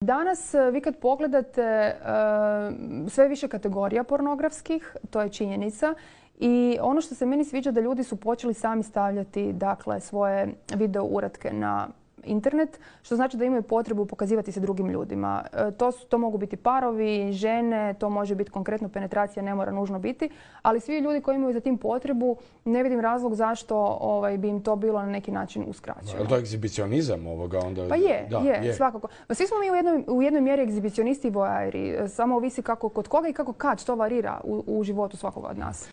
Danas vi kad pogledate sve više kategorija pornografskih, to je činjenica. I ono što se meni sviđa da ljudi su počeli sami stavljati svoje video uratke na internet, što znači da imaju potrebu pokazivati se drugim ljudima. To mogu biti parovi, žene, to može biti konkretno penetracija, ne mora nužno biti, ali svi ljudi koji imaju za tim potrebu, ne vidim razlog zašto bi im to bilo na neki način uskraćeno. Je li to egzibicionizam ovoga onda? Pa je, svakako. Svi smo mi u jednoj mjeri egzibicionisti i voajeri, samo ovisi kako kod koga i kako kad to varira u životu svakoga od nas.